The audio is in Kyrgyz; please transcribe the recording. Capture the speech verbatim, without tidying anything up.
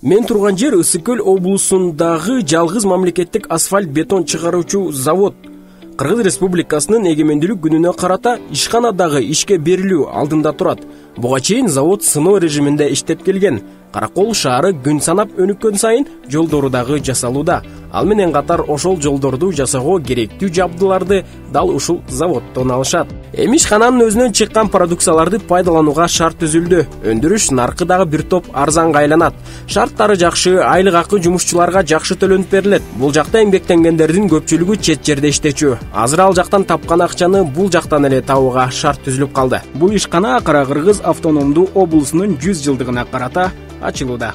Мен турган жер Ысык Көл облусундагы жалгыз мамлекеттик асфальт бетон чыгаруучу завод. Кыргыз Республикасынын эгемендүүлүк күнүнө карата ишканадагы ишке берилүү алдында турат. Буга чейин завод сыноо режиминде иштеп келген. Каракол шаары күн санап өнүккөн сайын жолдору дагы жасалууда. Ал менен катар ошол жолдорду жасоого керектүү жабдыларды дал ушул заводдон алышат. Эми ишкананын өзүнөн чыккан продукцияларды пайдаланууга шарт түзүлдү. Өндүрүш наркы дагы бир топ арзанга айланат. Шарттары жакшы, айлык акы жумушчуларга жакшы төлөнүп берилет. Бул жакта эмгектенгендердин көпчүлүгү чет жерде иштечү. Азыр ал жактан тапкан акчаны бул жактан эле табууга шарт түзүлүп калды. Бул ишкана Кара Кыргыз автономдуу облусунун жүз жылдыгына карата ачылууда.